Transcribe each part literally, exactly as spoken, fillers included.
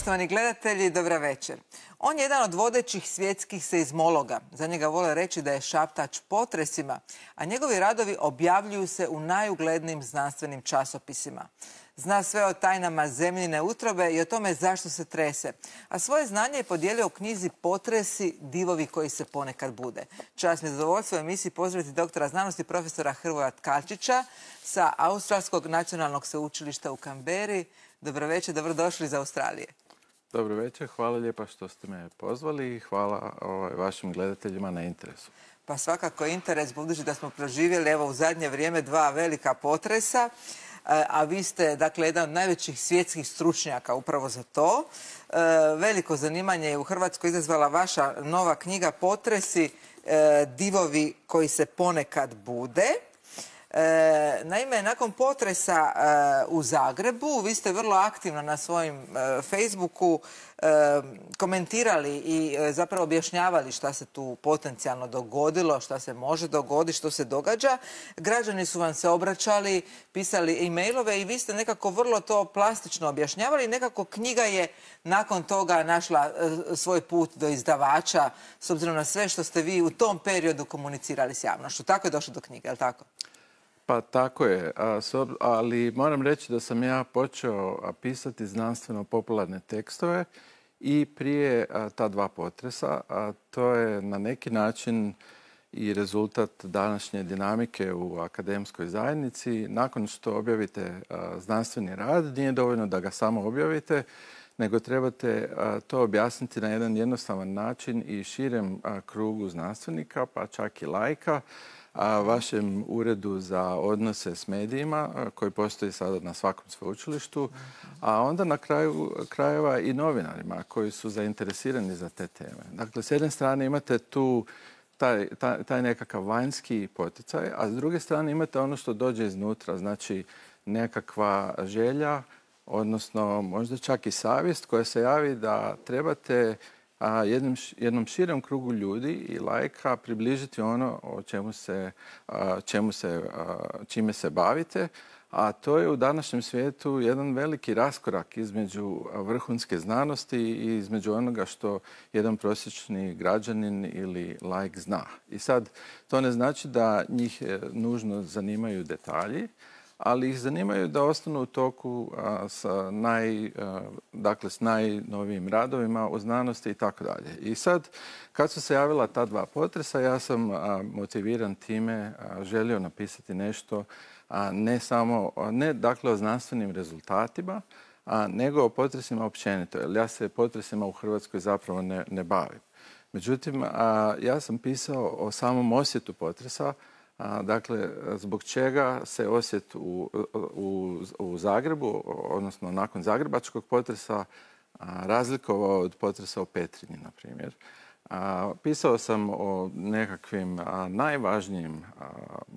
Poštovani gledatelji, dobra večer. On je jedan od vodećih svjetskih seizmologa. Za njega vole reći da je šaptač potresima, a njegovi radovi objavljuju se u najuglednijim znanstvenim časopisima. Zna sve o tajnama zemljine utrobe i o tome zašto se trese. A svoje znanje je podijelio u knjizi Potresi, divovi koji se ponekad bude. Čast mi je zadovoljstvo u emisiji pozdraviti doktora znanosti profesora Hrvoja Tkalčića sa Australskog nacionalnog sveučilišta u Kamberi. Dobro večer, dobrodošli iz Australije. Dobro večer, hvala lijepa što ste me pozvali i hvala vašim gledateljima na interesu. Pa svakako interes, budući da smo proživjeli evo u zadnje vrijeme dva velika potresa, a vi ste, dakle, jedan od najvećih svjetskih stručnjaka upravo za to. Veliko zanimanje je u Hrvatskoj izazvala vaša nova knjiga Potresi, divovi koji se ponekad bude. Naime, nakon potresa u Zagrebu, vi ste vrlo aktivno na svojim Facebooku komentirali i zapravo objašnjavali šta se tu potencijalno dogodilo, šta se može dogoditi, što se događa. Građani su vam se obraćali, pisali e-mailove i vi ste nekako vrlo to plastično objašnjavali. Nekako knjiga je nakon toga našla svoj put do izdavača, s obzirom na sve što ste vi u tom periodu komunicirali s javnošću. Tako je došlo do knjige, je li tako? Pa tako je, ali moram reći da sam ja počeo pisati znanstveno-popularne tekstove i prije ta dva potresa, a to je na neki način i rezultat današnje dinamike u akademskoj zajednici. Nakon što objavite znanstveni rad, nije dovoljno da ga samo objavite, nego trebate to objasniti na jedan jednostavan način i širem krugu znanstvenika, pa čak i laika, a vašem uredu za odnose s medijima, koji postoji sada na svakom sveučilištu, a onda na kraju krajeva i novinarima koji su zainteresirani za te teme. Dakle, s jedne strane imate tu taj, taj, taj nekakav vanjski poticaj, a s druge strane imate ono što dođe iznutra, znači nekakva želja, odnosno možda čak i savjest koja se javi da trebate a jednom, jednom širem krugu ljudi i laika približiti ono o čemu se, čemu se, čime se bavite, a to je u današnjem svijetu jedan veliki raskorak između vrhunske znanosti i između onoga što jedan prosječni građanin ili laik zna. I sad, to ne znači da njih nužno zanimaju detalji, ali ih zanimaju da ostanu u toku a, sa naj, a, dakle, s najnovijim radovima u znanosti i tako dalje. I sad, kad su se javila ta dva potresa, ja sam a, motiviran time a, želio napisati nešto, a ne samo, a, ne dakle o znanstvenim rezultatima, a, nego o potresima općenito, jer ja se potresima u Hrvatskoj zapravo ne, ne bavim. Međutim, a, ja sam pisao o samom osjetu potresa. A, dakle, zbog čega se osjet u, u, u Zagrebu, odnosno nakon zagrebačkog potresa, a, razlikovao od potresa u Petrinji, na primjer. A, pisao sam o nekakvim a, najvažnijim a,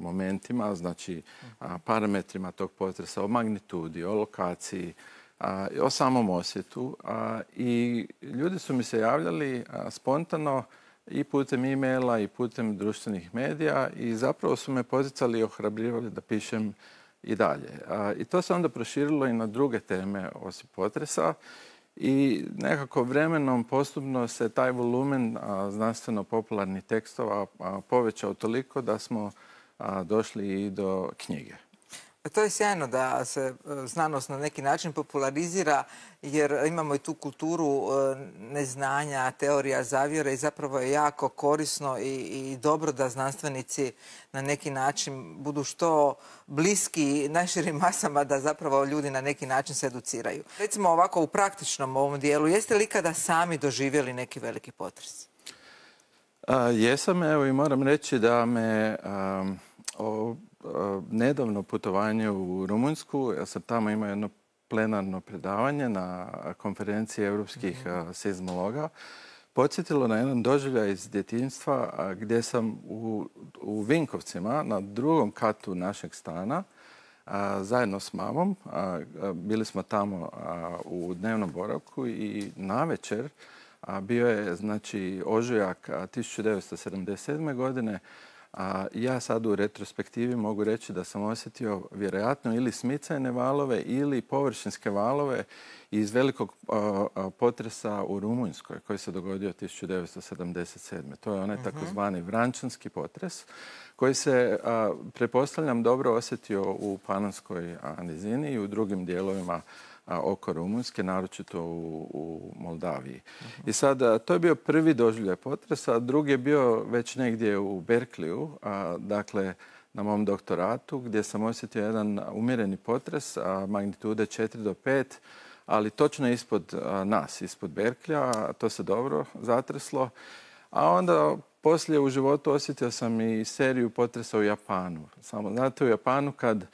momentima, znači a, parametrima tog potresa, o magnitudi, o lokaciji, a, o samom osjetu. A, I ljudi su mi se javljali a, spontano i putem e-maila i putem društvenih medija i zapravo su me poticali i ohrabrivali da pišem i dalje. I to se onda proširilo i na druge teme osim potresa i nekako vremenom postupno se taj volumen znanstveno-popularnih tekstova povećao toliko da smo došli i do knjige. To je sjajno da se znanost na neki način popularizira, jer imamo i tu kulturu neznanja, teorija zavjere i zapravo je jako korisno i, i dobro da znanstvenici na neki način budu što bliski najširim masama, da zapravo ljudi na neki način se educiraju. Recimo ovako u praktičnom ovom dijelu, jeste li ikada sami doživjeli neki veliki potres? A, jesam, evo, i moram reći da me a, o, nedavno putovanje u Rumunjsku, ja sam tamo imao jedno plenarno predavanje na konferenciji europskih mm-hmm. seizmologa, podsjetilo na jedan doživljaj iz djetinjstva gdje sam u, u Vinkovcima na drugom katu našeg stana a, zajedno s mamom, a, a, bili smo tamo a, u dnevnom boravku i navečer a, bio je, znači, ožujak tisuću devetsto sedamdeset sedme. godine, A ja sad u retrospektivi mogu reći da sam osjetio vjerojatno ili smicajne valove ili površinske valove iz velikog a, a, potresa u Rumunjskoj koji se dogodio tisuću devetsto sedamdeset sedme. To je onaj uh-huh. takozvani vrančanski potres koji se, a, pretpostavljam, dobro osjetio u Panonskoj nizini i u drugim dijelovima a, oko Rumunjske, naročito u, u Moldaviji. Uh-huh. I sad, to je bio prvi doživljaj potresa, a drugi je bio već negdje u Berkeleyu, a, dakle, na mom doktoratu, gdje sam osjetio jedan umjereni potres, a, magnitude četiri do pet, ali točno ispod a, nas, ispod Berkeleya, to se dobro zatreslo. A onda poslije u životu osjetio sam i seriju potresa u Japanu. Samo, znate, u Japanu kad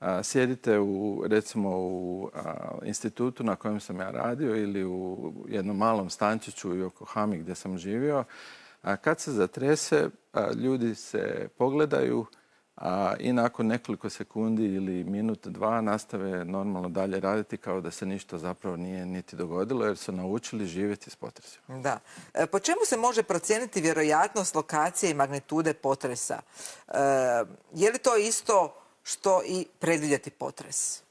a, sjedite u, recimo u a, institutu na kojem sam ja radio ili u jednom malom stančiću u Yokohami gdje sam živio, a, kad se zatrese, a, ljudi se pogledaju, a, i nakon nekoliko sekundi ili minut, dva nastave normalno dalje raditi kao da se ništa zapravo nije niti dogodilo jer su naučili živjeti s potresima. Da. E, po čemu se može procijeniti vjerojatnost lokacije i magnitude potresa? E, je li to isto što i predvidjeti potres?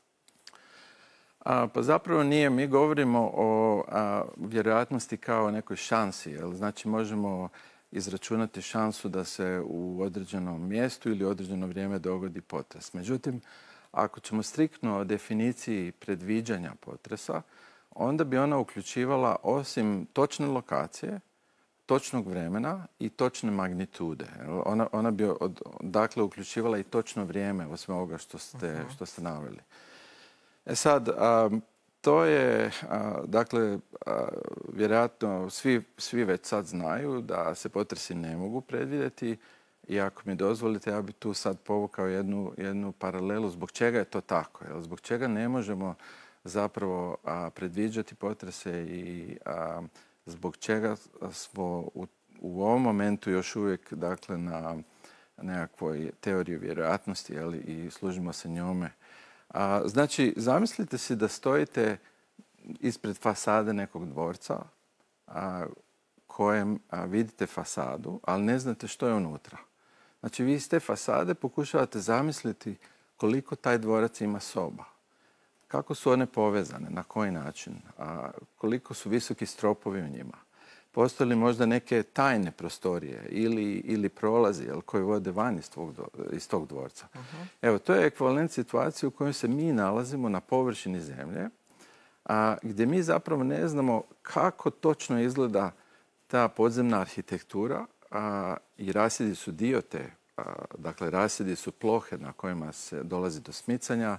A, pa zapravo nije. Mi govorimo o a, vjerojatnosti kao nekoj šansi. Jel? Znači možemo izračunati šansu da se u određenom mjestu ili određeno vrijeme dogodi potres. Međutim, ako ćemo striktno o definiciji predviđanja potresa, onda bi ona uključivala osim točne lokacije, točnog vremena i točne magnitude. Ona, ona bi od, dakle uključivala i točno vrijeme osim ovoga što ste, što ste naveli. E sad, a, to je, a, dakle, a, vjerojatno svi, svi već sad znaju da se potresi ne mogu predvidjeti i ako mi dozvolite, ja bi tu sad povukao jednu, jednu paralelu zbog čega je to tako. Jel? Zbog čega ne možemo zapravo a, predviđati potrese i a, zbog čega smo u, u ovom momentu još uvijek, dakle, na nekakvoj teoriji vjerojatnosti, jel, i služimo se njome. A, znači, zamislite si da stojite ispred fasade nekog dvorca a, kojem a, vidite fasadu, ali ne znate što je unutra. Znači, vi iz te fasade pokušavate zamisliti koliko taj dvorac ima soba. Kako su one povezane, na koji način, a, koliko su visoki stropovi u njima. Postoje li možda neke tajne prostorije ili, ili prolazi jel, koji vode van iz, tvog, iz tog dvorca. Uh-huh. Evo, to je ekvivalent situacije u kojoj se mi nalazimo na površini zemlje, a, gdje mi zapravo ne znamo kako točno izgleda ta podzemna arhitektura a, i rasjedi su dio te, a, dakle rasjedi su plohe na kojima se dolazi do smicanja,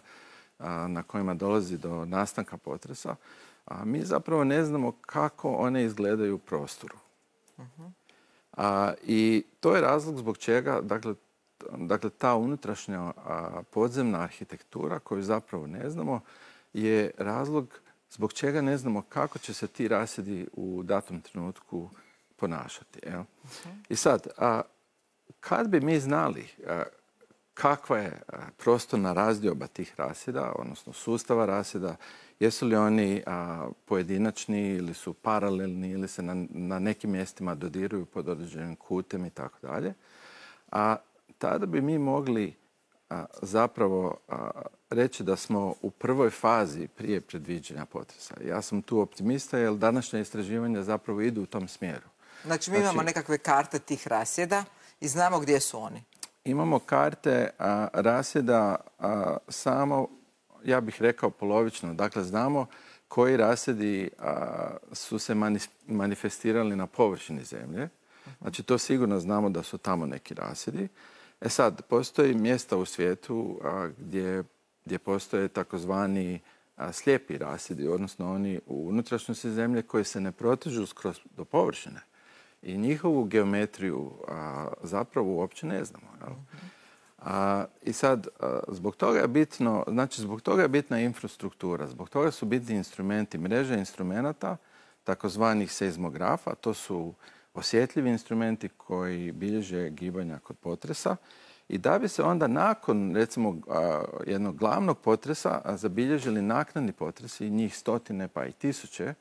a, na kojima dolazi do nastanka potresa. A mi zapravo ne znamo kako one izgledaju u prostoru. Uh-huh. A, I to je razlog zbog čega, dakle, dakle ta unutrašnja a, podzemna arhitektura koju zapravo ne znamo je razlog zbog čega ne znamo kako će se ti rasjedi u datom trenutku ponašati. Jel? Uh-huh. I sad, a, kad bi mi znali a, kakva je prostorna razdioba tih rasjeda, odnosno sustava rasjeda, jesu li oni a, pojedinačni ili su paralelni ili se na, na nekim mjestima dodiruju pod određenim kutem i tako dalje. A tada bi mi mogli a, zapravo a, reći da smo u prvoj fazi prije predviđanja potresa. Ja sam tu optimista jer današnja istraživanja zapravo idu u tom smjeru. Znači mi imamo znači, nekakve karte tih rasjeda i znamo gdje su oni. Imamo karte a, rasjeda a, samo, ja bih rekao polovično. Dakle, znamo koji rasjedi a, su se manifestirali na površini zemlje. Znači, to sigurno znamo da su tamo neki rasjedi. E sad, postoji mjesta u svijetu a, gdje, gdje postoje takozvani a, slijepi rasjedi, odnosno oni u unutrašnjosti zemlje koji se ne protežu skroz do površine. I njihovu geometriju a, zapravo uopće ne znamo. Jel? A, I sad, a, zbog toga je bitno, znači zbog toga je bitna infrastruktura, zbog toga su bitni instrumenti, mreže instrumenata, takozvanih seizmografa, to su osjetljivi instrumenti koji bilježe gibanja kod potresa I da bi se onda nakon, recimo, jednog glavnog potresa zabilježili naknadni potresi, njih stotine pa i tisuće.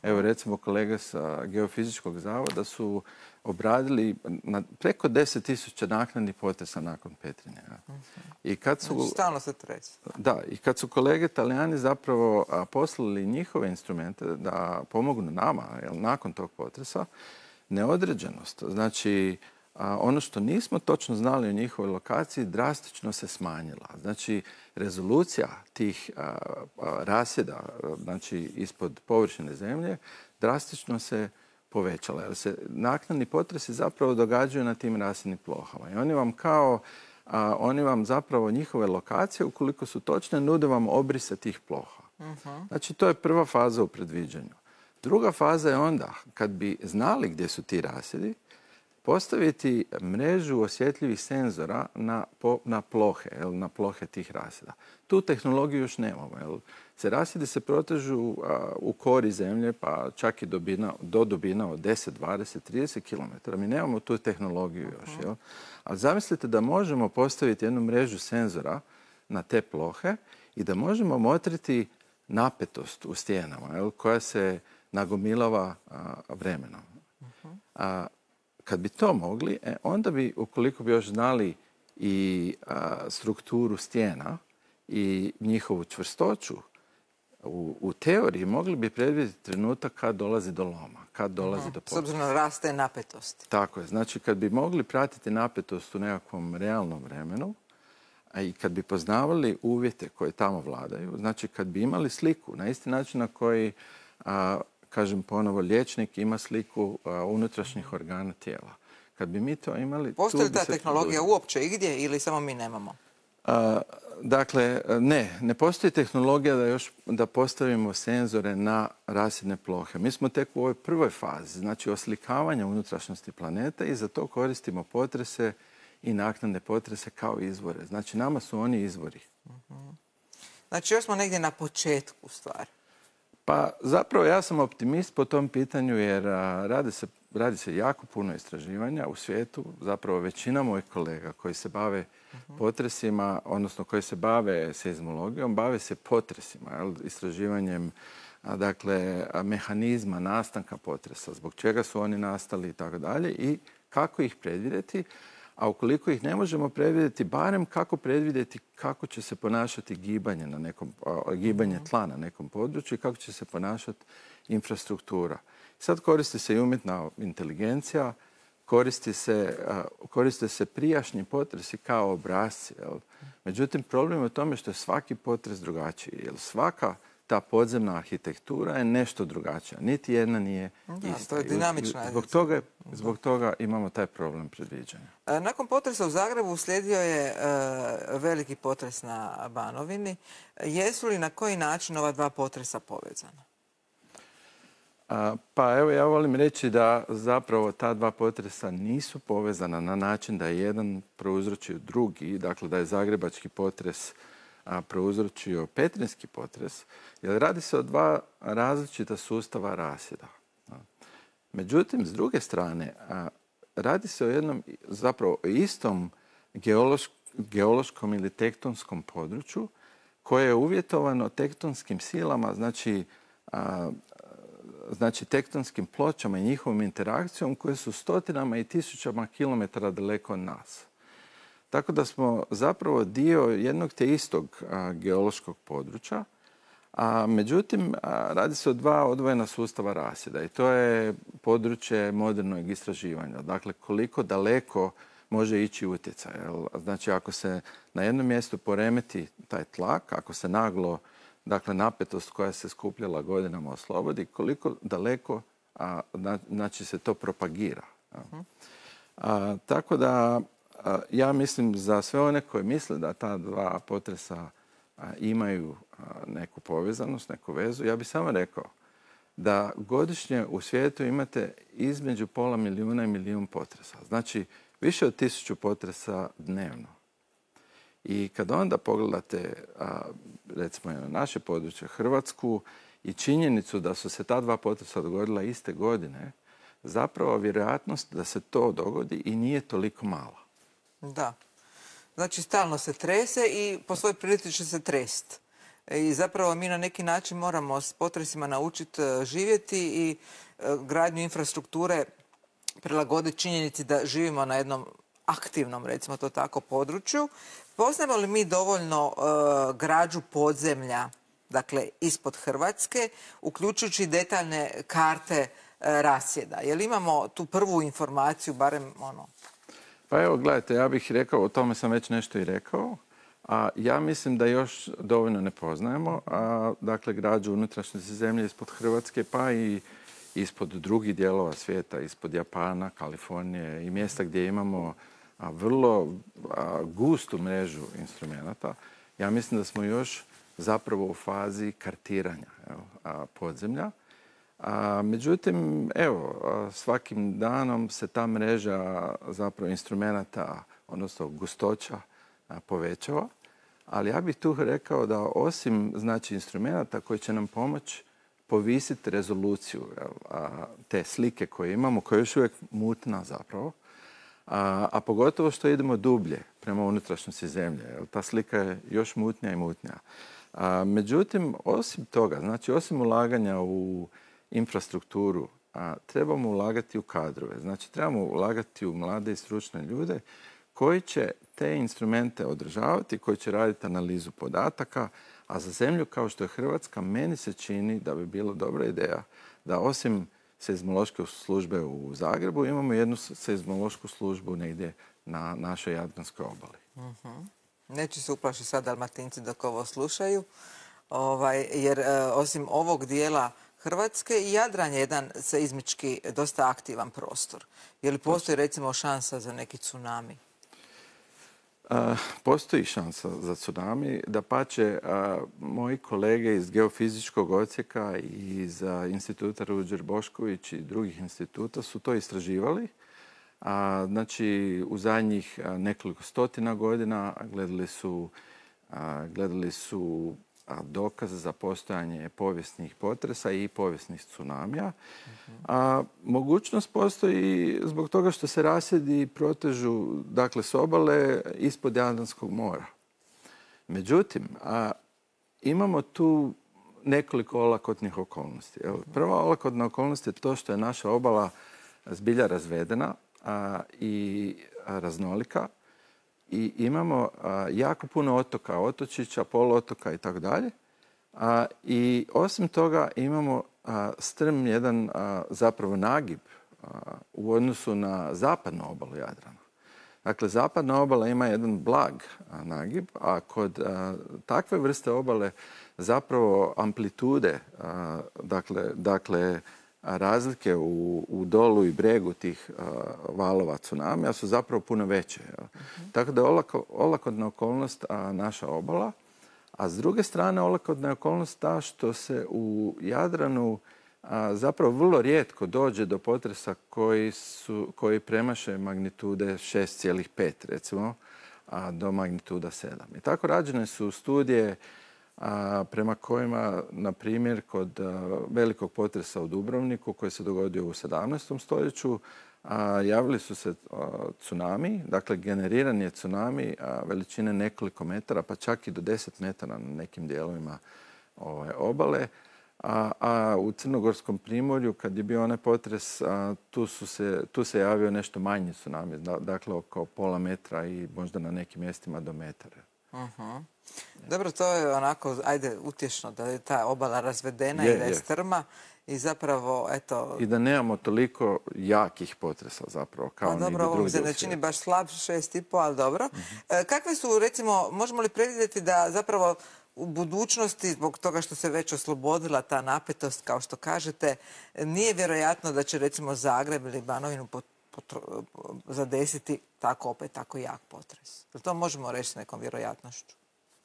Evo, recimo, kolege sa Geofizičkog zavoda su obradili na preko deset tisuća naknadnih potresa nakon Petrinje. I kad su, znači, stalno se trese. Da, i kad su kolege Talijani zapravo poslali njihove instrumente da pomognu nama, jel, nakon tog potresa, neodređenost, znači a ono što nismo točno znali o njihovoj lokaciji drastično se smanjila. Znači, rezolucija tih a, a, rasjeda, znači ispod površine zemlje, drastično se povećala. Jer se naknadni potresi zapravo događaju na tim rasjednim plohama. I oni vam kao, a, oni vam zapravo njihove lokacije, ukoliko su točne, nude vam obrise tih ploha. Uh-huh. Znači, to je prva faza u predviđanju. Druga faza je onda, kad bi znali gdje su ti rasjedi, postaviti mrežu osjetljivih senzora na, po, na plohe, jel, na plohe tih rasjeda. Tu tehnologiju još nemamo. Jel. Se rasjedi se protežu a, u kori zemlje, pa čak i dobina, do dubina od deset, dvadeset, trideset kilometara. Mi nemamo tu tehnologiju još. Jel. Ali zamislite da možemo postaviti jednu mrežu senzora na te plohe i da možemo motriti napetost u stijenama, jel, koja se nagomilava a, vremenom. A, Kad bi to mogli, e, onda bi, ukoliko bi još znali i a, strukturu stijena i njihovu čvrstoću, u, u teoriji mogli bi predvidjeti trenutak kad dolazi do loma, kad dolazi uh-huh. do potresa. S obzirom na raste napetost. Tako je. Znači, kad bi mogli pratiti napetost u nekakvom realnom vremenu, a i kad bi poznavali uvjete koje tamo vladaju, znači kad bi imali sliku na isti način na koji a, kažem ponovo, liječnik ima sliku a, unutrašnjih organa tijela. Kad bi mi to imali... Postoji li ta tehnologija uopće igdje ili samo mi nemamo? A, dakle, ne. Ne postoji tehnologija da još da postavimo senzore na rasjedne plohe. Mi smo tek u ovoj prvoj fazi, znači oslikavanja unutrašnjosti planeta i za to koristimo potrese i naknadne potrese kao izvore. Znači, nama su oni izvori. Uh-huh. Znači, još smo negdje na početku stvari. Pa zapravo ja sam optimist po tom pitanju jer a, radi, se, radi se jako puno istraživanja u svijetu. Zapravo većina mojih kolega koji se bave uh-huh. potresima, odnosno koji se bave seizmologijom, bave se potresima, jel, istraživanjem a, dakle, a, mehanizma nastanka potresa, zbog čega su oni nastali i tako dalje i kako ih predvidjeti. A ukoliko ih ne možemo predvidjeti, barem kako predvidjeti kako će se ponašati gibanje, na nekom, a, gibanje tla na nekom području i kako će se ponašati infrastruktura. Sad koristi se i umjetna inteligencija, koristi se, a, koriste se prijašnji potresi kao obrasci. Jel? Međutim, problem je u tome što je svaki potres drugačiji. Jel? Svaka ta podzemna arhitektura je nešto drugačija. Niti jedna nije da, ista. To je dinamična. Zbog toga, zbog toga imamo taj problem predviđanja. Nakon potresa u Zagrebu uslijedio je uh, veliki potres na Banovini. Jesu li na koji način ova dva potresa povezana? A, pa evo ja volim reći da zapravo ta dva potresa nisu povezana na način da je jedan prouzročio drugi, dakle da je zagrebački potres a prouzročio petrinjski potres, jer radi se o dva različita sustava rasjeda. Međutim, s druge strane, radi se o jednom zapravo istom geološ, geološkom ili tektonskom području koje je uvjetovano tektonskim silama, znači, a, znači tektonskim pločama i njihovom interakcijom koje su stotinama i tisućama kilometara daleko od nas. Tako da smo zapravo dio jednog te istog a, geološkog područja, a međutim a, radi se o dva odvojena sustava rasjeda i to je područje modernog istraživanja. Dakle, koliko daleko može ići utjecaj. Znači, ako se na jednom mjestu poremeti taj tlak, ako se naglo, dakle, napetost koja se skupljala godinama oslobodi, koliko daleko a, znači se to propagira. A, tako da ja mislim za sve one koji misle da ta dva potresa imaju neku povezanost, neku vezu, ja bih samo rekao da godišnje u svijetu imate između pola milijuna i milijun potresa. Znači, više od tisuću potresa dnevno. I kad onda pogledate, recimo na naše područje, Hrvatsku, i činjenicu da su se ta dva potresa dogodila iste godine, zapravo vjerojatnost da se to dogodi i nije toliko mala. Da. znači stalno se trese i po svojoj prilici će se trest. I zapravo mi na neki način moramo s potresima naučiti živjeti i gradnju infrastrukture prilagoditi činjenici da živimo na jednom aktivnom, recimo to tako, području. Poznajemo li mi dovoljno građu podzemlja, dakle, ispod Hrvatske, uključujući detaljne karte rasjeda? Jel imamo tu prvu informaciju, barem ono... Pa evo, gledajte, ja bih rekao, o tome sam već nešto i rekao, a ja mislim da još dovoljno ne poznajemo, a, dakle, građu unutrašnjosti zemlje ispod Hrvatske, pa i ispod drugih dijelova svijeta, ispod Japana, Kalifornije i mjesta gdje imamo a, vrlo a, gustu mrežu instrumenata. Ja mislim da smo još zapravo u fazi kartiranja evo, a, podzemlja. A, međutim, evo, svakim danom se ta mreža zapravo instrumenata, odnosno gustoća, a, povećava. Ali ja bih tu rekao da osim znači, instrumenata koji će nam pomoći povisiti rezoluciju jel, a, te slike koje imamo, koja je još uvijek mutna zapravo, a, a pogotovo što idemo dublje prema unutrašnjosti zemlje. Jel, ta slika je još mutnija i mutnija. A, međutim, osim toga, znači osim ulaganja u infrastrukturu, a, trebamo ulagati u kadrove. Znači trebamo ulagati u mlade i stručne ljude koji će te instrumente održavati, koji će raditi analizu podataka, a za zemlju kao što je Hrvatska, meni se čini da bi bilo dobra ideja da osim seizmološke službe u Zagrebu imamo jednu seizmološku službu negdje na našoj Jadranskoj obali. Uh-huh. Neće se uplašiti sad Dalmatinci dok ovo slušaju, ovaj, jer e, osim ovog dijela Hrvatske i Jadran je jedan seizmički dosta aktivan prostor. Je li postoji recimo šansa za neki tsunami? Postoji šansa za tsunami. Dapače, moji kolege iz geofizičkog odsjeka i iz instituta Ruđer Bošković i drugih instituta su to istraživali. Znači, u zadnjih nekoliko stotina godina gledali su, gledali su dokaze za postojanje povijesnih potresa i povijesnih tsunamija. A mogućnost postoji zbog toga što se rasjedi protežu dakle, s obale ispod Jadranskog mora. Međutim, a, imamo tu nekoliko olakotnih okolnosti. Evo, prva olakotna okolnost je to što je naša obala zbilja razvedena a, i a, raznolika. I imamo a, jako puno otoka, otočića, poluotoka i tako dalje. I osim toga imamo a, strm jedan a, zapravo nagib a, u odnosu na zapadnu obalu Jadrana. Dakle, zapadna obala ima jedan blag a, nagib, a kod a, takve vrste obale zapravo amplitude, a, dakle, dakle razlike u, u dolu i bregu tih uh, valova tsunamija su zapravo puno veće. Uh-huh. Tako da je olako, olakotna okolnost a, naša obala, a s druge strane olakotna je okolnost ta što se u Jadranu a, zapravo vrlo rijetko dođe do potresa koji, su, koji premaše magnitude šest zarez pet recimo, a, do magnituda sedam. I tako rađene su studije a, prema kojima, na primjer, kod a, velikog potresa u Dubrovniku koji se dogodio u sedamnaestom stoljeću, a, javili su se a, tsunami, dakle generiran je tsunami a, veličine nekoliko metara, pa čak i do deset metara na nekim dijelovima ove, obale. A, a u Crnogorskom primorju, kad je bio onaj potres, a, tu, su se, tu se javio nešto manji tsunami, dakle oko pola metra i možda na nekim mjestima do metara. Uh-huh. Dobro, to je onako, ajde, utješno da je ta obala razvedena je, i da je, je strma i zapravo, eto... I da nemamo toliko jakih potresa zapravo, kao pa, dobro, ovo mi se ne čini baš slab, šest i po, ali dobro. Uh-huh. E, kakve su, recimo, možemo li predvidjeti da zapravo u budućnosti, zbog toga što se već oslobodila ta napetost, kao što kažete, nije vjerojatno da će, recimo, Zagreb ili Banovinu pot zadesiti tako opet tako jak potres. Jel to možemo reći s nekom vjerojatnošću?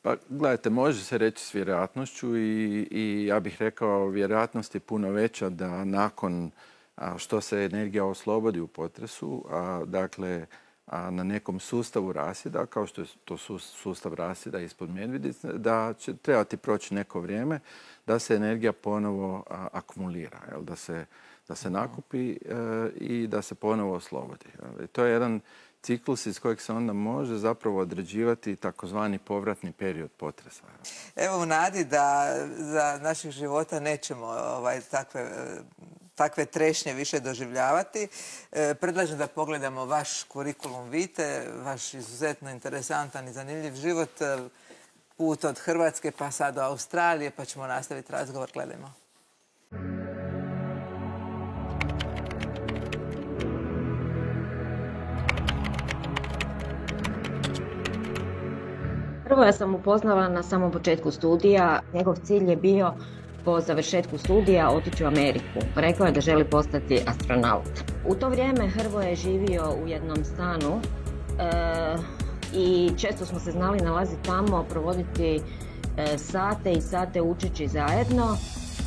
Pa gledajte, može se reći s vjerojatnošću i, i ja bih rekao vjerojatnost je puno veća da nakon a, što se energija oslobodi u potresu, a, dakle a, na nekom sustavu rasjeda, kao što je to sustav rasjeda ispod Medvednice, da će trebati proći neko vrijeme da se energija ponovo a, akumulira, jel, da se da se nakupi e, i da se ponovo oslobodi. To je jedan ciklus iz kojeg se onda može zapravo određivati takozvani povratni period potresa. Evo u nadi da za naših života nećemo ovaj, takve, takve trešnje više doživljavati. E, predlažem da pogledamo vaš kurikulum vitae, vaš izuzetno interesantan i zanimljiv život, put od Hrvatske pa sad do Australije, pa ćemo nastaviti razgovor. Gledajmo. Prvo ja sam upoznala na samom početku studija. Njegov cilj je bio po završetku studija otići u Ameriku. Rekao je da želi postati astronaut. U to vrijeme Hrvoje je živio u jednom stanu e, i često smo se znali nalaziti tamo, provoditi e, sate i sate učeći zajedno.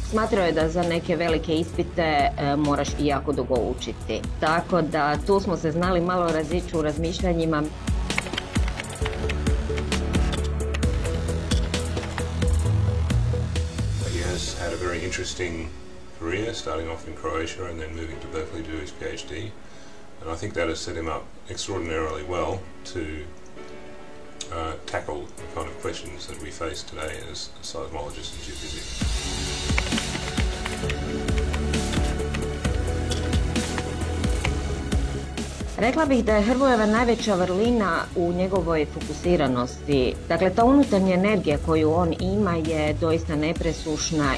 Smatrao je da za neke velike ispite e, moraš i jako dugo učiti. Tako da tu smo se znali malo razići u razmišljanjima. Had a very interesting career, starting off in Croatia and then moving to Berkeley to do his PhD. And I think that has set him up extraordinarily well to uh, tackle the kind of questions that we face today as seismologists and geophysicists. Rekla bih da je Hrvojeva najveća vrlina u njegovoj fokusiranosti. Dakle, ta unutarnja energija koju on ima je doista nepresušna.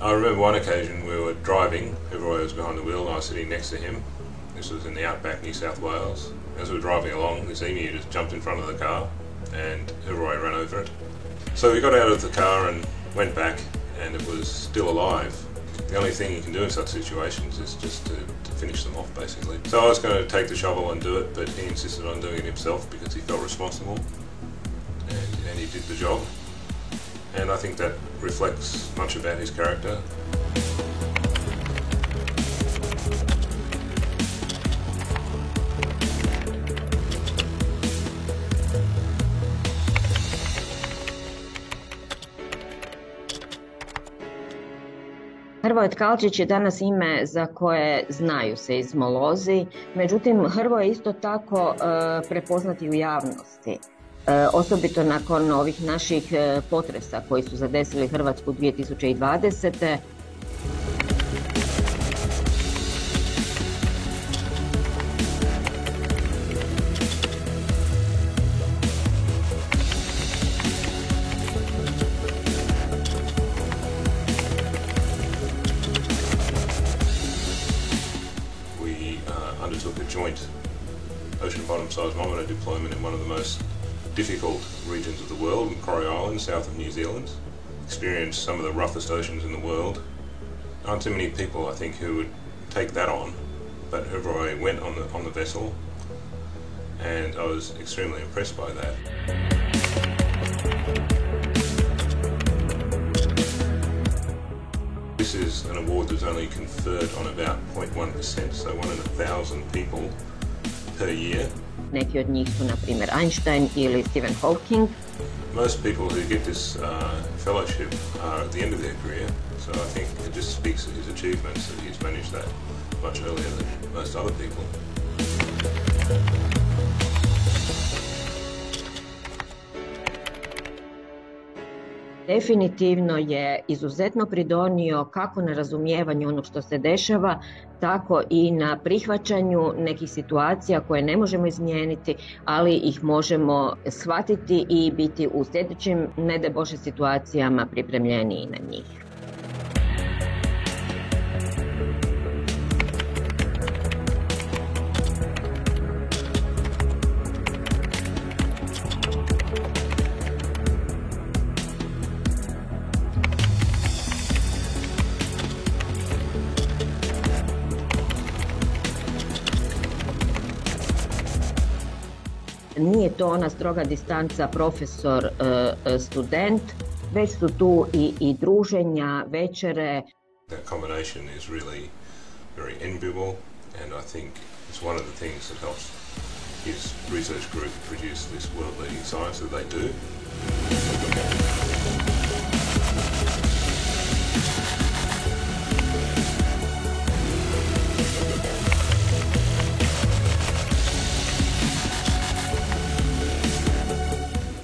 I remember one occasion we were driving, Hrvoje was behind the wheel and I was sitting next to him. This was in the outback, New South Wales. As we were driving along, this emu just jumped in front of the car and Hrvoje ran over it. So we got out of the car and went back and it was still alive. The only thing you can do in such situations is just to, to finish them off, basically. So I was going to take the shovel and do it, but he insisted on doing it himself because he felt responsible and, and he did the job. And I think that reflects much about his character. Hrvoje Tkalčić je danas ime za koje znaju seizmolozi, međutim Hrvoje je isto tako e, prepoznati u javnosti. E, osobito nakon ovih naših e, potresa koji su zadesili Hrvatsku dvije tisuće dvadesete. Undertook a joint ocean bottom seismometer deployment in one of the most difficult regions of the world, in Corrie Island, south of New Zealand. Experienced some of the roughest oceans in the world. Aren't too many people, I think, who would take that on, but Hrvoje went on the on the vessel, and I was extremely impressed by that. This is an award that's only conferred on about zero point one percent, so one in a thousand people per year. Neki od njih su, na primjer, Einstein ili Stephen Hawking. Most people who get this uh, fellowship are at the end of their career, so I think it just speaks to his achievements that he's managed that much earlier than most other people. Definitivno je izuzetno pridonio kako na razumijevanju onog što se dešava, tako i na prihvaćanju nekih situacija koje ne možemo izmijeniti, ali ih možemo shvatiti i biti u sljedećim, ne daj Bože, situacijama pripremljeniji na njih. Nije to ona stroga distanca profesor-student, već su tu i, i druženja, večere. That combination is really very enviable and I think It's one of the things that helps his research group produce this world-leading science that they do.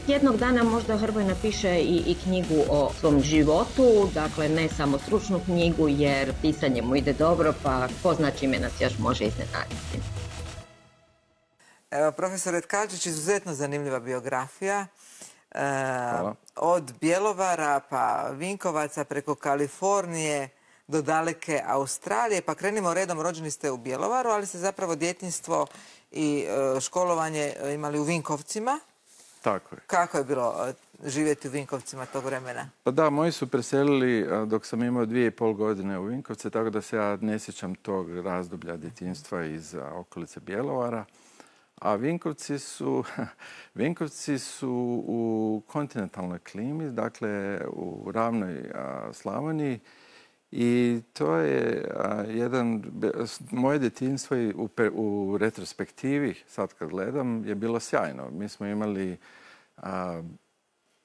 Jednog dana možda Hrvoje napiše i, i knjigu o svom životu, dakle ne samo stručnu knjigu jer pisanje mu ide dobro, pa ko zna čime nas još može iznenaditi. Evo, profesor Tkačić, izuzetno zanimljiva biografija. E, od Bjelovara pa Vinkovaca preko Kalifornije do daleke Australije. Pa krenimo redom, rođeni ste u Bjelovaru, ali ste zapravo djetinjstvo i e, školovanje imali u Vinkovcima. Tako je. Kako je bilo živjeti u Vinkovcima tog vremena? Pa da, moji su preselili dok sam imao dvije i pol godine u Vinkovce, tako da se ja ne sjećam tog razdoblja djetinjstva iz okolice Bjelovara. A Vinkovci su, Vinkovci su u kontinentalnoj klimi, dakle u ravnoj Slavoniji. I to je jedan, moje djetinjstvo u, u retrospektivi, sad kad gledam, je bilo sjajno. Mi smo imali a,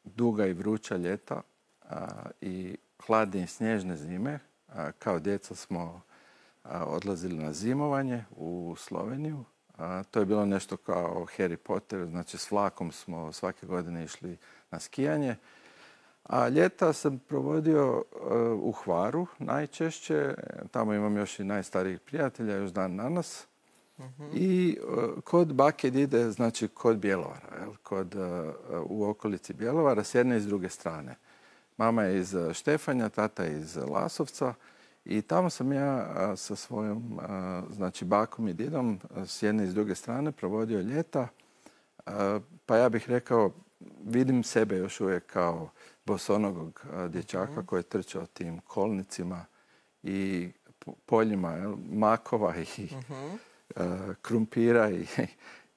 duga i vruća ljeta a, i hladne i snježne zime. A, kao djeca smo a, odlazili na zimovanje u Sloveniju. A, to je bilo nešto kao Harry Potter, znači s vlakom smo svake godine išli na skijanje. A ljeta sam provodio uh, u Hvaru najčešće. Tamo imam još i najstarijih prijatelja, još dan danas. Uh-huh. I uh, kod bake dide, znači kod Bjelovara, jel? Kod, uh, u okolici Bjelovara, s jedne i s druge strane. Mama je iz Štefanja, tata je iz Lasovca. I tamo sam ja uh, sa svojom uh, znači bakom i didom uh, s jedne i s druge strane provodio ljeta. Uh, pa ja bih rekao, vidim sebe još uvijek kao bosonogog dječaka koji je trčao tim kolnicima i poljima jel, makova i uh-huh. uh, krumpira i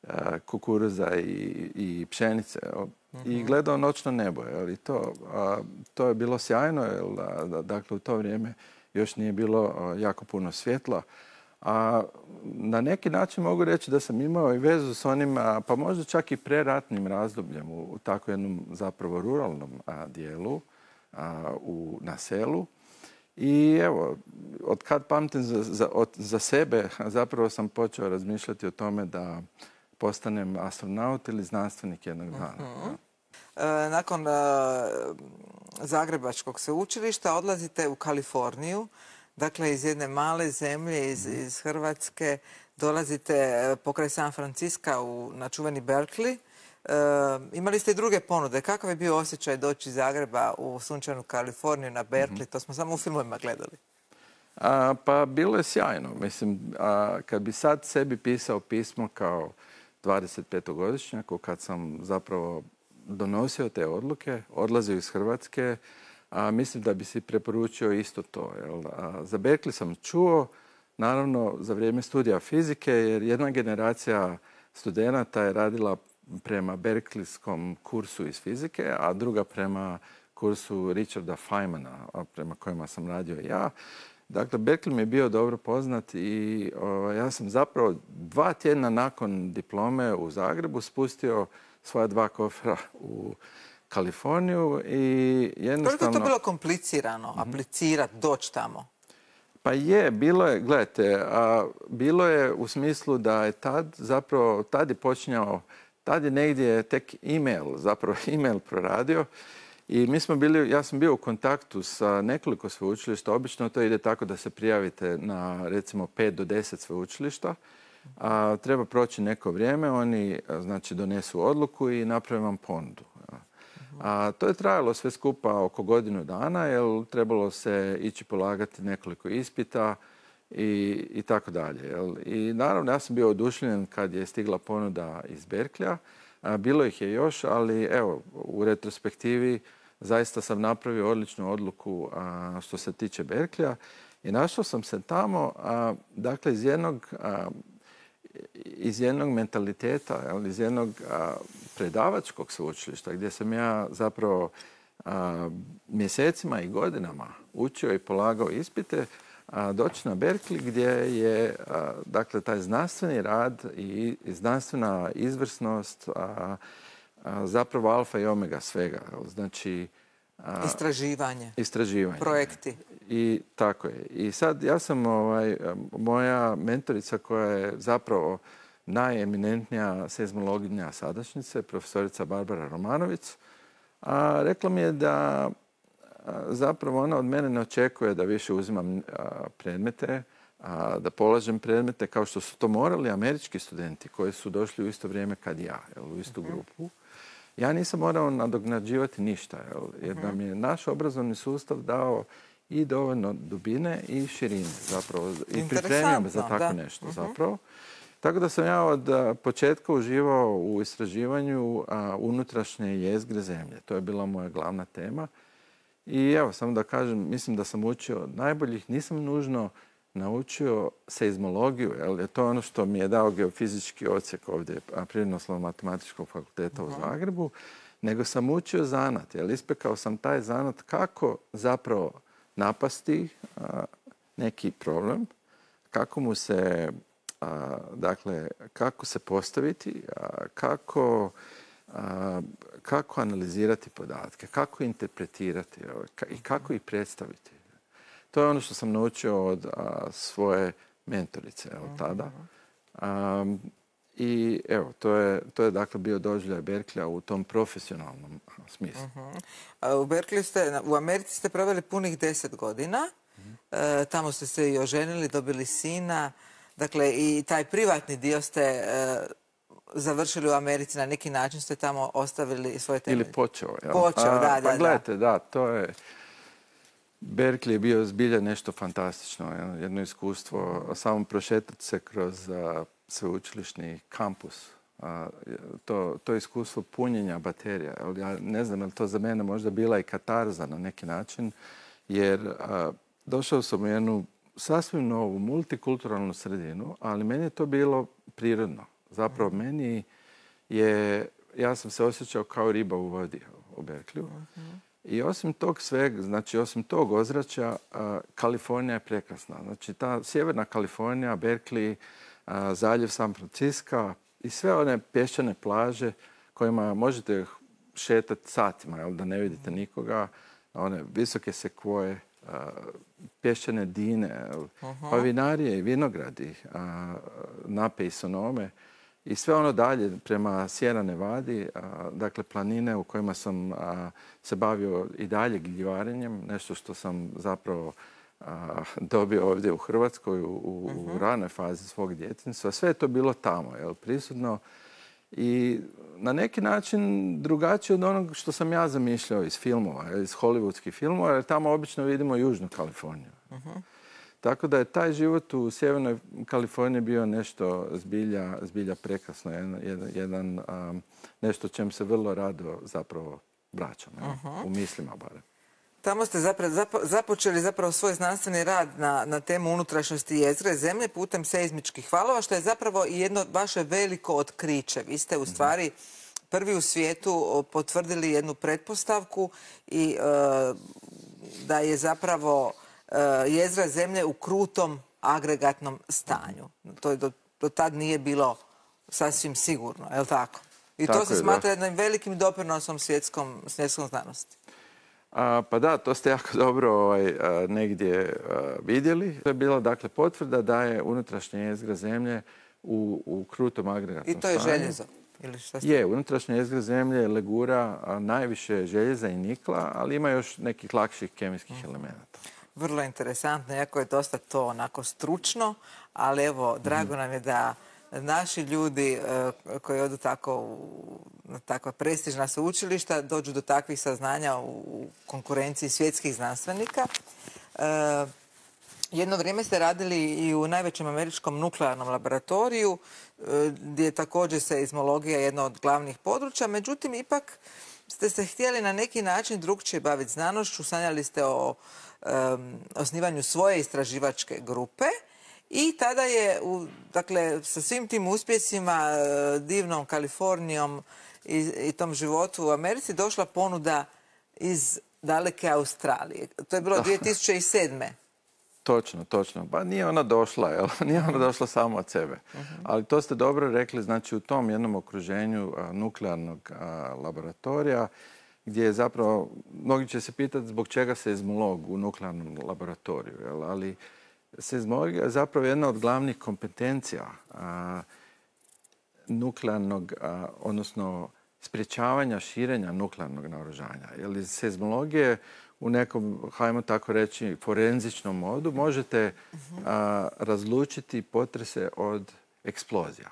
uh, kukuruza i, i pšenice. Jel, uh-huh. I gledao noćno nebo. Jel, i to, uh, to je bilo sjajno. Jel, da, dakle, u to vrijeme još nije bilo uh, jako puno svjetla. A na neki način mogu reći da sam imao i vezu s onim, a, pa možda čak i preratnim razdobljem u, u tako jednom zapravo ruralnom a, dijelu a, u, na selu. I evo, od kad pamtim za, za, od, za sebe, zapravo sam počeo razmišljati o tome da postanem astronaut ili znanstvenik jednog dana. Uh-huh. E, nakon uh, Zagrebačkog sveučilišta odlazite u Kaliforniju. Dakle, iz jedne male zemlje, iz, iz Hrvatske, dolazite pokraj San Franciska u, na čuveni Berkeley. E, imali ste i druge ponude. Kakav je bio osjećaj doći iz Zagreba u sunčanu Kaliforniju na Berkeley? Mm-hmm. To smo samo u filmovima gledali. A, pa bilo je sjajno. Mislim, a, kad bi sad sebi pisao pismo kao dvadesetpetogodišnjaku, kad sam zapravo donosio te odluke, odlazio iz Hrvatske, a mislim da bi si preporučio isto to. Jel? A za Berkeley sam čuo, naravno, za vrijeme studija fizike, jer jedna generacija studenata je radila prema berkeleyskom kursu iz fizike, a druga prema kursu Richarda Feynmana, prema kojima sam radio ja. Dakle, Berkeley mi je bio dobro poznat i o, ja sam zapravo dva tjedna nakon diplome u Zagrebu spustio svoja dva kofera u Kaliforniju i jednostavno... Koliko je to bilo komplicirano, mm-hmm. aplicirati, doći tamo? Pa je, bilo je, gledajte, a, bilo je u smislu da je tad zapravo, tad je počinjao, tad je negdje tek e-mail, zapravo e-mail proradio i mi smo bili, ja sam bio u kontaktu sa nekoliko sveučilišta, obično to ide tako da se prijavite na recimo pet do deset sveučilišta, a treba proći neko vrijeme, oni znači donesu odluku i naprave vam ponudu. A to je trajalo sve skupa oko godinu dana, jer trebalo se ići polagati nekoliko ispita i, i tako dalje. Jel? I naravno, ja sam bio oduševljen kad je stigla ponuda iz Berkeleya. Bilo ih je još, ali evo, u retrospektivi zaista sam napravio odličnu odluku a, što se tiče Berkeleya. I našao sam se tamo, a, dakle, iz jednog... A, iz jednog mentaliteta, iz jednog a, predavačkog sveučilišta gdje sam ja zapravo a, mjesecima i godinama učio i polagao ispite, doći na Berkeley gdje je dakle, taj znanstveni rad i znanstvena izvrsnost zapravo alfa i omega svega. Znači, Istraživanje. Istraživanje. Projekti. I tako je. I sad ja sam, ovaj, moja mentorica koja je zapravo najeminentnija seizmologinja sadašnjice, profesorica Barbara Romanović, a rekla mi je da zapravo ona od mene ne očekuje da više uzimam predmete, da polažem predmete kao što su to morali američki studenti koji su došli u isto vrijeme kad ja, u istu grupu. Ja nisam morao nadoknađivati ništa, jer nam je naš obrazovni sustav dao i dovoljno dubine i širine zapravo. I pripremio me za tako nešto zapravo. Tako da sam ja od početka uživao u istraživanju unutrašnje jezgre zemlje. To je bila moja glavna tema. I evo, samo da kažem, mislim da sam učio najboljih. Nisam nužno naučio seizmologiju, jer to je ono što mi je dao geofizički odsjek ovdje Prirodoslovno-matematičkog fakulteta u Zagrebu, nego sam učio zanat, jer ispekao sam taj zanat kako zapravo napasti neki problem, kako mu se, dakle, kako se postaviti, kako kako analizirati podatke, kako interpretirati i kako ih predstaviti. To je ono što sam naučio od svoje mentorice od tada. I evo, to je, to je dakle bio doživljaj Berkeleya u tom profesionalnom smislu. U Berkeley ste, u Americi ste proveli punih deset godina. Tamo ste se i oženili, dobili sina. Dakle, i taj privatni dio ste završili u Americi, na neki način ste tamo ostavili svoje temelje. Ili počeo. Ja. Počeo, da, da. Pa gledajte, da, to je... Berkeley je bio zbilja nešto fantastično, jedno iskustvo, samo prošetati se kroz sveučilišni kampus. To, to iskustvo punjenja baterija. Ja ne znam, ali to za mene možda bila i katarza na neki način, jer došao sam u jednu sasvim novu multikulturalnu sredinu, ali meni je to bilo prirodno. Zapravo meni je, ja sam se osjećao kao riba u vodi u Berkeleyu. I osim tog svega, znači osim tog ozračja, Kalifornija je prekrasna. Znači ta sjeverna Kalifornija, Berkeley, zaljev San Francisco i sve one pješčane plaže kojima možete šetati satima, jel, da ne vidite nikoga, one visoke sekvoje, pješčane dine, pa vinarije i vinogradi, nape i sonome. I sve ono dalje prema Sierra Nevadi, dakle planine u kojima sam se bavio i dalje gljivarenjem, nešto što sam zapravo dobio ovdje u Hrvatskoj u ranoj fazi svog djetinjstva. Sve je to bilo tamo, jel, prisutno i na neki način drugačije od onog što sam ja zamišljao iz filmova, iz hollywoodskih filmova, jer tamo obično vidimo Južnu Kaliforniju. Tako da je taj život u Sjevernoj Kaliforniji bio nešto zbilja, zbilja prekrasno, jedan, jedan, um, nešto čem se vrlo rado zapravo vraćam, uh-huh. u mislima barem. Tamo ste zapravo, zapo, započeli zapravo svoj znanstveni rad na, na temu unutrašnjosti jezgre zemlje putem seizmičkih valova, što je zapravo i jedno vaše veliko otkriće. Vi ste u stvari uh-huh. prvi u svijetu potvrdili jednu pretpostavku i uh, da je zapravo jezgra zemlje u krutom agregatnom stanju. To je do, do tad nije bilo sasvim sigurno, je li tako? I tako to se je, smatra da. jednim velikim doprinosom svjetskom, svjetskom znanosti. A, pa da, to ste jako dobro ovaj, a, negdje a, vidjeli. To je bila dakle potvrda da je unutrašnja jezgra zemlje u, u krutom agregatnom stanju. I to je stanju. Željezo? Ili šta ste... Je, unutrašnja jezgra zemlje legura a, najviše željeza i nikla, ali ima još nekih lakših kemijskih mm. elemenata. Vrlo interesantno, iako je dosta to onako stručno, ali evo, drago nam je da naši ljudi koji odu tako u, na takva prestižna sveučilišta dođu do takvih saznanja u konkurenciji svjetskih znanstvenika. E, jedno vrijeme ste radili i u najvećem američkom nuklearnom laboratoriju, gdje je također seizmologija jedno od glavnih područja, međutim, ipak ste se htjeli na neki način drugčije baviti znanošću, sanjali ste o Um, osnivanju svoje istraživačke grupe i tada je, u, dakle, sa svim tim uspjesima, uh, divnom Kalifornijom i, i tom životu u Americi došla ponuda iz daleke Australije. To je bilo dvije tisuće sedme. Točno, točno. Pa nije ona došla, jel? Nije ona došla samo od sebe. Ali to ste dobro rekli, znači u tom jednom okruženju a, nuklearnog a, laboratorija, gdje je zapravo, mnogi će se pitati zbog čega seizmolog u nuklearnom laboratoriju, jel? Ali seizmologija je zapravo jedna od glavnih kompetencija a, nuklearnog, a, odnosno sprječavanja širenja nuklearnog naoružanja. Jer iz seizmologije u nekom, hajmo tako reći, forenzičnom modu možete a, razlučiti potrese od eksplozija.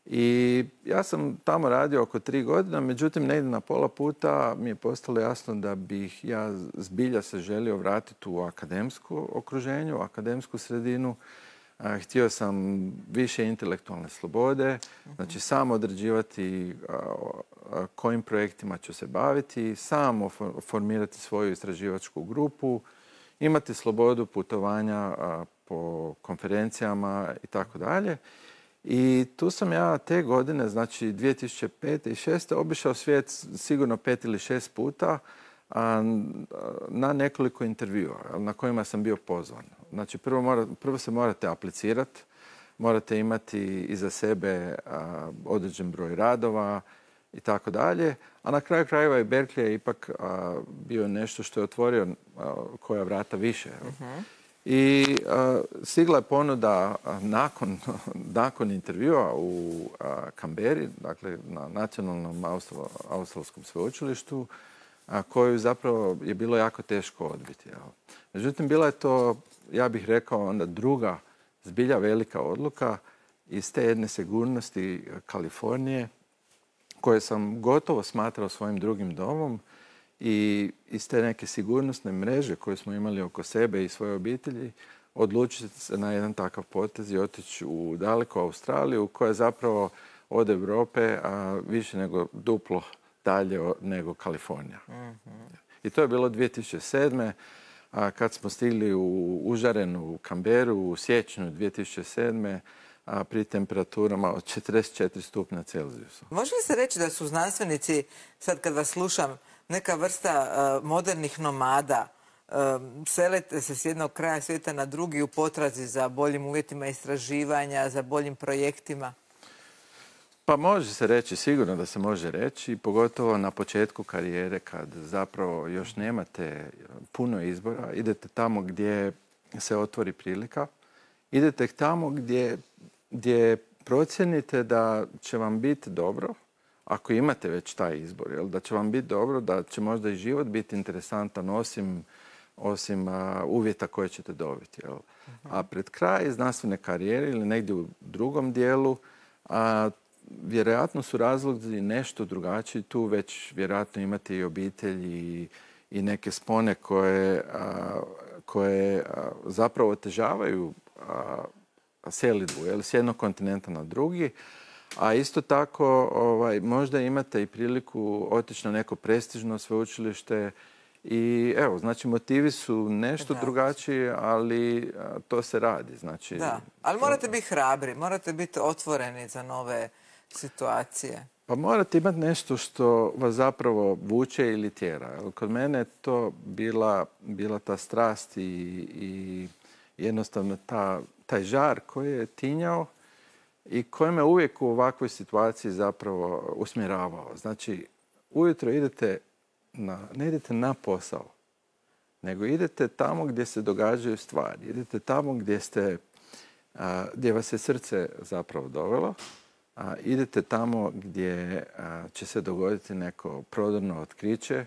I ja sam tamo radio oko tri godina, međutim negdje na pola puta mi je postalo jasno da bih ja zbilja se želio vratiti u akademsko okruženje, u akademsku sredinu. A, htio sam više intelektualne slobode, znači sam određivati a, a, kojim projektima ću se baviti, sam formirati svoju istraživačku grupu, imati slobodu putovanja a, po konferencijama i tako dalje. I tu sam ja te godine, znači dvije tisuće pete i dvije tisuće šeste obišao svijet sigurno pet ili šest puta a, na nekoliko intervjua na kojima sam bio pozvan. Znači prvo, mora, prvo se morate aplicirati, morate imati iza sebe a, određen broj radova i tako dalje. A na kraju krajeva i Berkeley je ipak a, bio nešto što je otvorio a, koja vrata više. Uh-huh. I a, stigla je ponuda a, nakon, nakon intervjua u a, Kamberi, dakle na nacionalnom Austral, australskom sveučilištu, a koju zapravo je bilo jako teško odbiti. Jel? Međutim, bila je to, ja bih rekao, onda druga zbilja velika odluka iz te jedne sigurnosti Kalifornije, koje sam gotovo smatrao svojim drugim domom, i iz te neke sigurnosne mreže koje smo imali oko sebe i svoje obitelji, odlučiti se na jedan takav potez i otići u daleku Australiju, koja je zapravo od Europe a više nego duplo dalje nego Kalifornija. Mm-hmm. I to je bilo dvije tisuće sedme. A kad smo stigli u užarenu Kamberu u siječnju dvije tisuće sedme. A pri temperaturama od četrdeset četiri stupnja Celzijusa. Može li se reći da su znanstvenici, sad kad vas slušam, neka vrsta uh, modernih nomada, uh, selite se s jednog kraja svijeta na drugi u potrazi za boljim uvjetima istraživanja, za boljim projektima? Pa može se reći, sigurno da se može reći, pogotovo na početku karijere kad zapravo još nemate puno izbora, idete tamo gdje se otvori prilika, idete tamo gdje, gdje procijenite da će vam biti dobro, ako imate već taj izbor, jel, da će vam biti dobro, da će možda i život biti interesantan osim, osim a, uvjeta koje ćete dobiti. Jel. A pred kraj znanstvene karijere ili negdje u drugom dijelu, a, vjerojatno su razlozi nešto drugačiji. Tu već vjerojatno imate i obitelj i, i neke spone koje, a, koje a, zapravo otežavaju a, selidbu, jel, s jednog kontinenta na drugi. A isto tako ovaj, možda imate i priliku otići na neko prestižno sveučilište i evo, znači motivi su nešto da. drugačiji, ali a, to se radi. Znači, da, ali morate biti hrabri, morate biti otvoreni za nove situacije. Pa morate imati nešto što vas zapravo vuče ili tjera. Kod mene je to bila, bila ta strast i, i jednostavno ta, taj žar koji je tinjao i koji me uvijek u ovakvoj situaciji zapravo usmjeravao. Znači, ujutro idete na, ne idete na posao, nego idete tamo gdje se događaju stvari. Idete tamo gdje, ste, a, gdje vas je srce zapravo dovelo. A, idete tamo gdje a, će se dogoditi neko prodorno otkriće,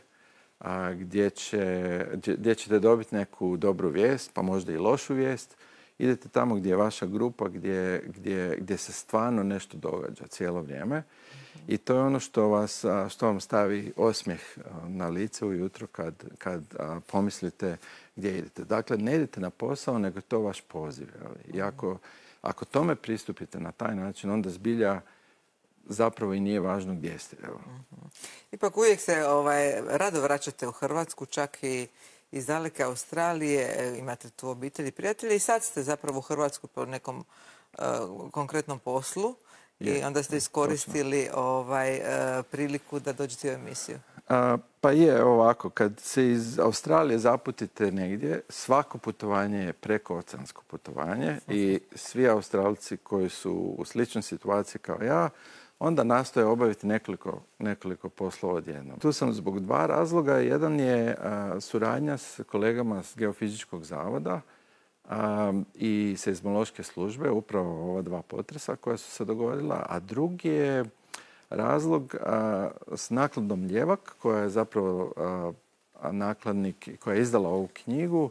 a, gdje, će, gdje ćete dobiti neku dobru vijest, pa možda i lošu vijest. Idete tamo gdje je vaša grupa, gdje, gdje, gdje se stvarno nešto događa cijelo vrijeme. Mm-hmm. I to je ono što, vas, što vam stavi osmijeh na lice ujutro kad, kad a, pomislite gdje idete. Dakle, ne idete na posao, nego je to vaš poziv. Mm-hmm. I ako, ako tome pristupite na taj način, onda zbilja zapravo i nije važno gdje ste. Evo. Mm-hmm. Ipak uvijek se ovaj, rado vraćate u Hrvatsku, čak i iz daleke Australije, imate tu obitelji i prijatelji i sad ste zapravo u Hrvatskoj po nekom uh, konkretnom poslu je, i onda ste iskoristili ovaj, uh, priliku da dođete u emisiju. A, pa je ovako, kad se iz Australije zaputite negdje, svako putovanje je prekooceansko putovanje i svi Australci koji su u sličnoj situaciji kao ja, onda nastoje obaviti nekoliko, nekoliko poslova odjednom. Tu sam zbog dva razloga. Jedan je a, suradnja s kolegama s Geofizičkog zavoda a, i seizmološke službe, upravo ova dva potresa koja su se dogodila, a drugi je razlog a, s nakladom Ljevak, koja je zapravo a, a nakladnik koja je izdala ovu knjigu,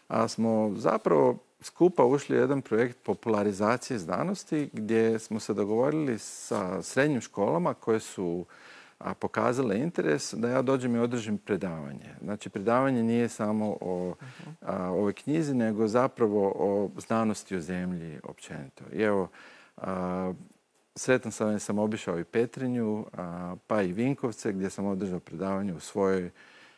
a smo zapravo skupa ušli u jedan projekt popularizacije znanosti gdje smo se dogovorili sa srednjim školama koje su a, pokazale interes da ja dođem i održim predavanje. Znači, predavanje nije samo o a, ovoj knjizi, nego zapravo o znanosti o zemlji općenito. I evo, a, sretan sam jer sam obišao i Petrinju, a, pa i Vinkovce gdje sam održao predavanje u svojoj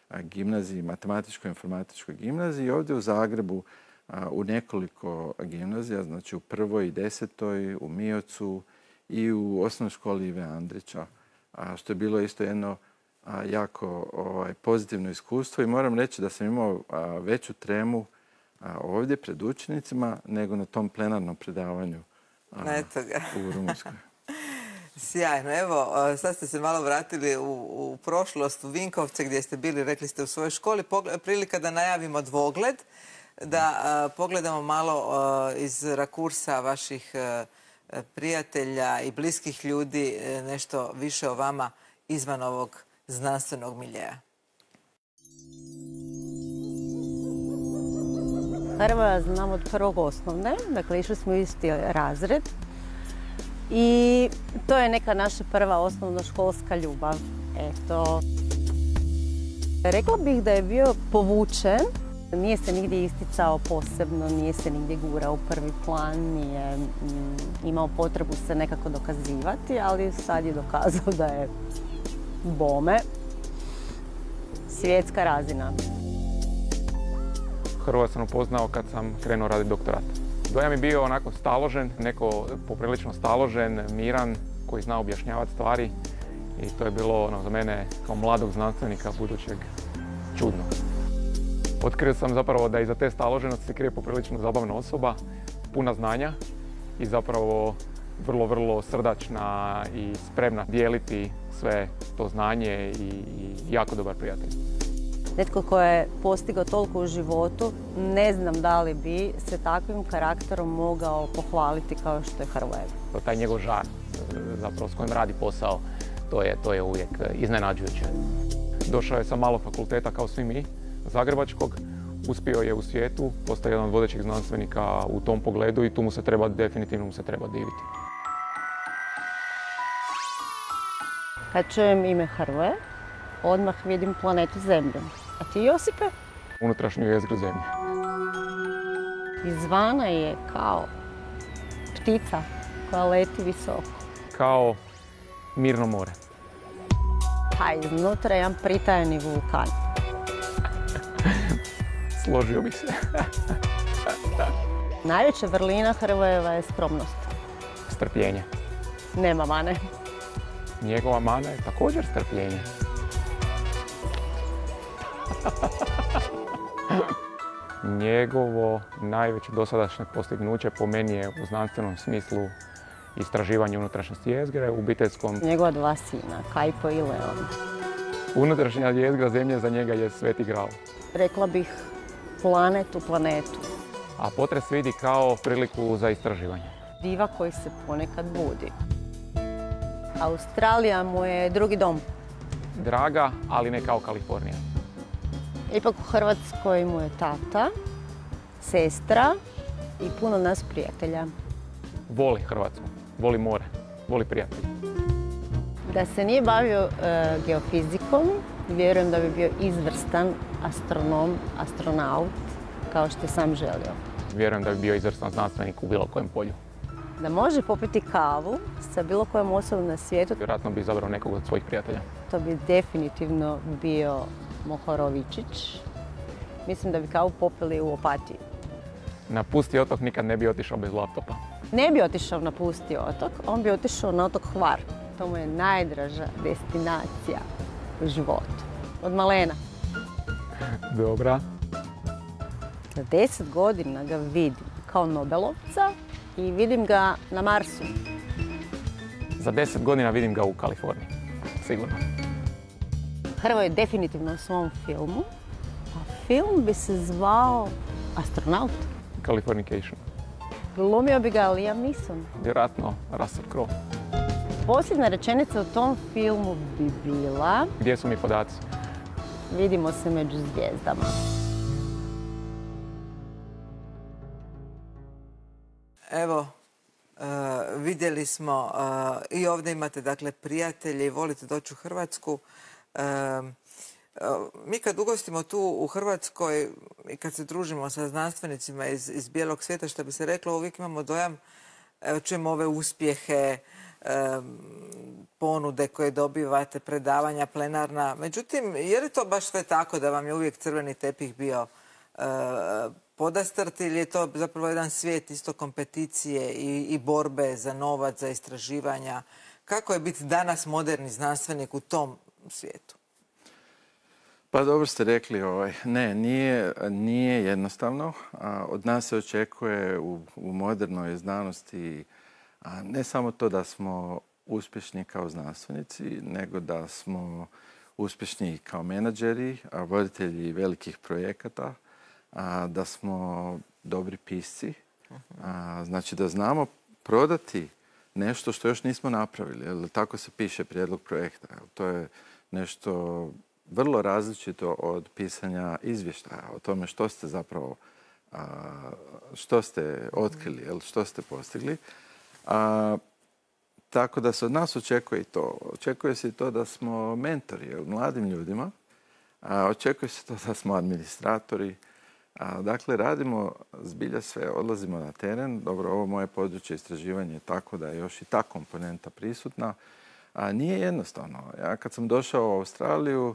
a, gimnaziji, matematičko-informatičkoj gimnaziji, i ovdje u Zagrebu a, u nekoliko gimnazija, znači u prvoj i desetoj, u Miocu i u osnovnoj školi Ive Andrića, a, što je bilo isto jedno a, jako ovaj, pozitivno iskustvo, i moram reći da sam imao a, veću tremu a, ovdje pred učenicima nego na tom plenarnom predavanju a, Eto ga. u Rumunjskoj. Sjajno. Evo, sad ste se malo vratili u, u prošlost, u Vinkovce gdje ste bili, rekli ste, u svojoj školi. Prilika da najavimo dvogled, da a, pogledamo malo a, iz rakursa vaših a, prijatelja i bliskih ljudi a, nešto više o vama izvan ovog znanstvenog miljeja. Hrvoja znam od prvog osnovne, dakle išli smo u isti razred i to je neka naša prva osnovnoškolska ljubav. Eto. Rekla bih da je bio povučen, nije se nigdje isticao posebno, nije se nigdje gurao u prvi plan, nije mm, imao potrebu se nekako dokazivati, ali sad je dokazao da je bome svjetska razina. Hrvoja sam upoznao kad sam krenuo raditi doktorat. Dojam je bio onako staložen, neko poprilično staložen, miran, koji zna objašnjavati stvari, i to je bilo ono, za mene kao mladog znanstvenika budućeg čudno. Otkrio sam zapravo da iza te staloženosti se krije poprilično zabavna osoba, puna znanja i zapravo vrlo, vrlo srdačna i spremna dijeliti sve to znanje i, i jako dobar prijatelj. Netko tko je postigao toliko u životu, ne znam da li bi se takvim karakterom mogao pohvaliti kao što je Hrvoje. Taj njegov žar, zapravo s kojim radi posao, to je, to je uvijek iznenađujuće. Došao je sa malo fakulteta kao svi mi, zagrebačkog, uspio je u svijetu, postao jedan od vodećih znanstvenika u tom pogledu i tu mu se treba, definitivno mu se treba diviti. Kad čujem ime Hrvoje, odmah vidim planetu Zemlju. A ti, Josipe? Unutrašnju jezgru Zemlje. Izvana je kao ptica koja leti visoko. Kao mirno more. Pa iznutra je jedan pritajeni vulkan. Složio bih se. Najveća vrlina Hrvojeva je skromnost. Strpljenje. Nema mane. Njegova mana je također strpljenje. Njegovo najveće dosadašnje postignuće po meni je u znanstvenom smislu istraživanje unutrašnjosti jezgre u obiteljskom... Njegova dva sina, Kajpo i Leon. Unutrašnja jezgra Zemlje za njega je sveti gral. Rekla bih planet u planetu. A potres vidi kao priliku za istraživanje. Diva koji se ponekad budi. Australija mu je drugi dom. Draga, ali ne kao Kalifornija. Ipak u Hrvatskoj mu je tata, sestra i puno nas prijatelja. Voli Hrvatsku, voli more, voli prijatelje. Da se nije bavio e, geofizikom, vjerujem da bi bio izvrstan astronom, astronaut, kao što je sam želio. Vjerujem da bi bio izvrstan znanstvenik u bilo kojem polju. Da može popiti kavu sa bilo kojom osobom na svijetu, Vjerojatno bi izabrao nekog od svojih prijatelja. to bi definitivno bio Mohorovičić. Mislim da bi kavu popili u Opatiji. Na pusti otok nikad ne bi otišao bez laptopa. Ne bi otišao na pusti otok, on bi otišao na otok Hvar. To mu je najdraža destinacija. životu. Od malena. Dobra. Za deset godina ga vidim kao Nobelovca i vidim ga na Marsu. Za deset godina vidim ga u Kaliforniji. Sigurno. Hrvoje je definitivno u svom filmu. A film bi se zvao Astronaut. Californication. Glumio bi ga Liam Neeson. Vjerojatno Russell Crowe. Posljedna rečenica u tom filmu bi bila: Gdje su mi podaci? Vidimo se među zvijezdama. Evo, uh, vidjeli smo uh, i ovdje imate dakle prijatelje i volite doći u Hrvatsku. Uh, uh, mi kad ugostimo tu u Hrvatskoj i kad se družimo sa znanstvenicima iz, iz bijelog svijeta, što bi se reklo, uvijek imamo dojam, evo čujemo ove uspjehe, um, ponude koje dobivate, predavanja plenarna. Međutim, je li to baš sve tako da vam je uvijek crveni tepih bio uh, podastrt ili je to zapravo jedan svijet isto kompeticije i, i borbe za novac, za istraživanja? Kako je biti danas moderni znanstvenik u tom svijetu? Pa dobro ste rekli, ovaj, ne, nije, nije jednostavno. A, od nas se očekuje u, u modernoj znanosti a ne samo to da smo uspješni kao znanstvenici, nego da smo uspješni kao menadžeri, a voditelji velikih projekata, a, da smo dobri pisci, a, znači da znamo prodati nešto što još nismo napravili. Jel, tako se piše prijedlog projekta. Jel, to je nešto vrlo različito od pisanja izvještaja o tome što ste zapravo, a, što ste otkrili, jel, što ste postigli. A, tako da se od nas očekuje i to. Očekuje se i to da smo mentori, jel, mladim ljudima. A, očekuje se to da smo administratori. A, dakle, radimo zbilja sve, odlazimo na teren. Dobro, ovo moje područje istraživanja je tako da je još i ta komponenta prisutna. A nije jednostavno. Ja kad sam došao u Australiju,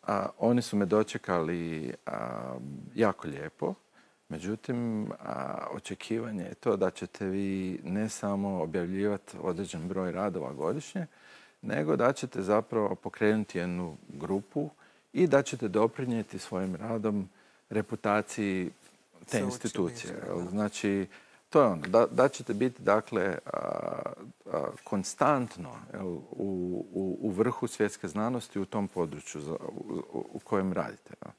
a, oni su me dočekali a, jako lijepo. Međutim, a, očekivanje je to da ćete vi ne samo objavljivati određen broj radova godišnje, nego da ćete zapravo pokrenuti jednu grupu i da ćete doprinijeti svojim radom reputaciji te institucije. Znači, to je ono, da, da ćete biti, dakle, a, a, konstantno jel, u, u, u vrhu svjetske znanosti u tom području za, u, u kojem radite. Jel.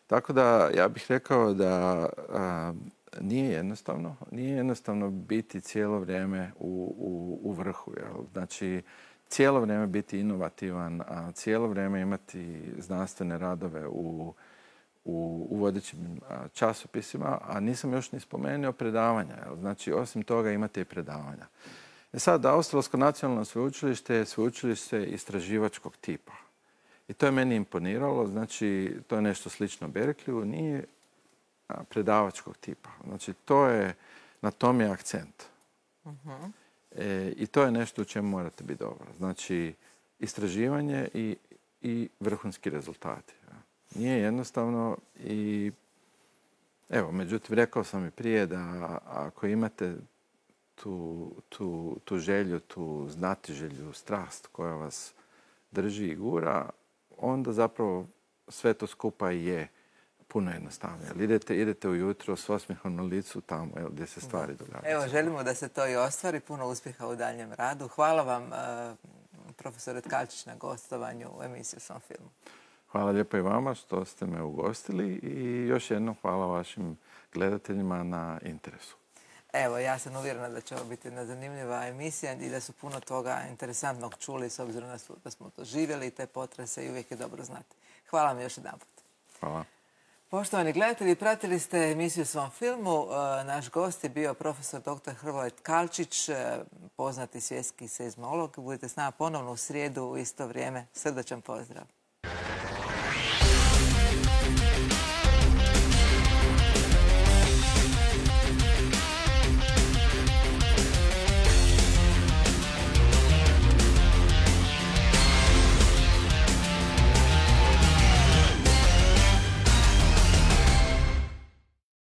Tako da ja bih rekao da a, nije jednostavno. Nije jednostavno biti cijelo vrijeme u, u, u vrhu. Jel. Znači, cijelo vrijeme biti inovativan, a cijelo vrijeme imati znanstvene radove u u, u vodećim časopisima, a nisam još ni spomenuo predavanja. Znači, osim toga imate i predavanja. E sad, Australsko nacionalno sveučilište je sveučilište istraživačkog tipa. I to je meni imponiralo. Znači, to je nešto slično Berkeleyu, nije predavačkog tipa. Znači, to je, na tom je akcent. Uh-huh. E, I to je nešto u čemu morate biti dobro. Znači, istraživanje i, i vrhunski rezultati. Nije jednostavno i evo, međutim, rekao sam i prije da ako imate tu, tu, tu želju, tu znatiželju, strast koja vas drži i gura, onda zapravo sve to skupa je puno jednostavnije. Idete, idete ujutro s osmijehom na licu tamo jel, gdje se stvari događaju. Evo, želimo da se to i ostvari. Puno uspjeha u daljem radu. Hvala vam, uh, profesore Tkalčić, na gostovanju u emisiji Svom filmu. Hvala lijepo i vama što ste me ugostili i još jednom hvala vašim gledateljima na interesu. Evo, ja sam uvjerena da će ovo biti jedna zanimljiva emisija i da su puno toga interesantnog čuli s obzirom na da smo to živjeli i te potrese i uvijek je dobro znati. Hvala vam još jedan put. Hvala. Poštovani gledatelji, pratili ste emisiju Svom filmu. Naš gost je bio profesor doktor Hrvoje Tkalčić, poznati svjetski seizmolog. Budite s nama ponovno u srijedu u isto vrijeme. Srdačan pozdrav.